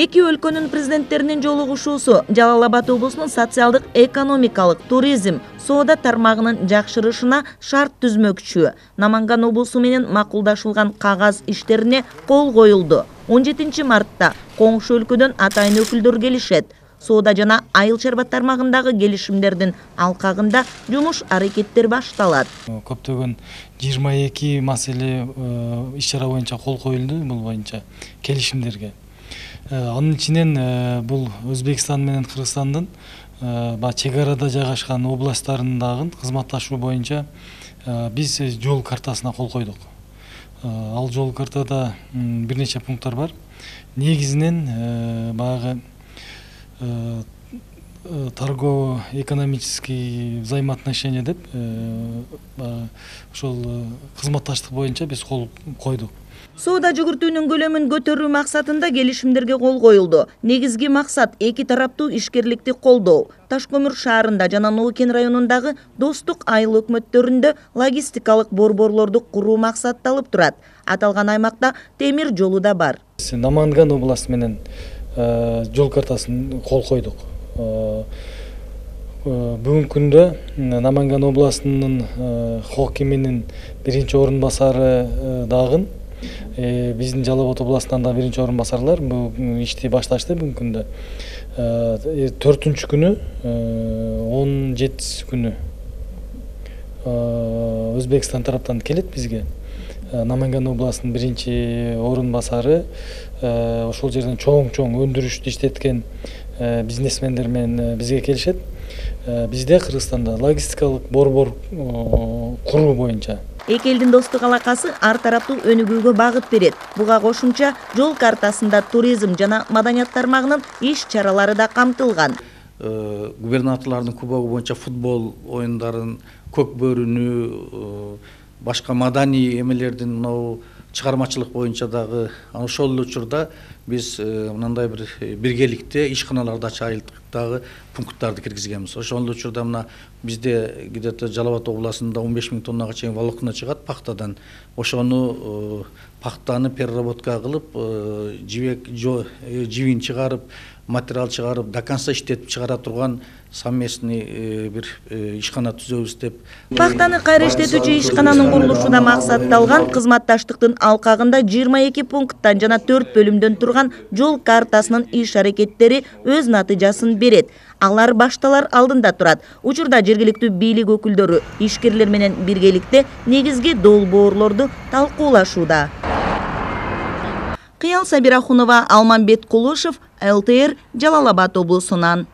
Эки өлкөнүн президенттеринин жолугушуусу Жалал Абад облусунун социалдык, экономикалык, туризм, соода тармагынын жакшырышына шарт түзмөкчү. Наманган облусу менен макулдашылган кагаз иштерине кол коюлду. 17 мартта коңшу өлкөдөн атайын өкүлдөр келишет. Соода жана айыл чарба тармагындагы келишимдердин алкагында жумуш аракеттер башталат. Көптөгөн 22 маселе иш-чара боюнча кол коюлду, бул боюнча келишимдерге. Анын ичинен бул Өзбекстан менен Кыргызстандын чек арада жайгашкан областтарындагы кызматташуу боюнча биз жол картасына кол койдук. Ал жол картада бир нече пункттар бар. Негизинен баягы торгово-экономический взаимоотношения деп ошол кызматташтык боюнча биз кол койдук. Соода жүгүртүүнүн көлөмүн көтөрүү максатында келишимдерге кол коюлду. Негизги максат эки тараптуу ишкерликти колдоо. Таш-Көмүр шаарында жана Ноокен районундагы достук айыл өкмөттөрүндө логистикалык борборлорду куруу максатталып турат. Аталган аймакта темир жолу да бар. Наманган областы менен жол картасын кол койдук. Бүгүнкү күндө Наманган областынын хокиминин биринчи орун басары дагы биздин Жалал Абад областынан да биринчи орун басарлар бул ишти башташты. Бүгүнкү күндө 4-күнү 17 күнү Өзбекстан тараптан келет бизге. Наманган областынын биринчи орун басары ошол жерден чоң өндүрүштү иштеткен бизнесмендер менен бизге келишет. Бизде Кыргызстанда логистикалык борбор куруу боюнча эки элдин достук алакасы ар тараптуу өнүгүүгө багыт берет. Буга кошумча жол картасында туризм жана маданият тармагынын иш-чаралары да камтылган. Губернаторлордун кубогу боюнча футбол оюндарын, көк бөрүнү, башка маданий эмелердин чыгармачылык боюнча дагы ошол учурда биз мындай бир биргеликте ишканаларды ачайылдагы пункттарды киргизгенбиз. Ошол учурда мына бизде где-то Жалал Абад областында 15 000 тоннага чейин волокно чыгат пахтадан. Ошону пахтаны переработка кылып, жибин чыгарып, материал чыгарып, до конца иштетип чыгара турган совместный бир ишкана түзөбүз деп. Пахтаны кайра иштетүүчү ишкананын курулушу да максатталган. Кызматташтыктын алкагында 22 пункттан жана 4 бөлүмдөн турган жол картасынын иш аракеттери өз натыйжасын берет. Алар башталар алдында турат. Учурда жергиликтүү бийлик өкүлдөрү ишкерлер менен биргеликте негизги долбоорлорду талкуулашууда. Кыял Сабирахунова, Алманбет Кулушев, ЛТР, Жалал Абад облусунан.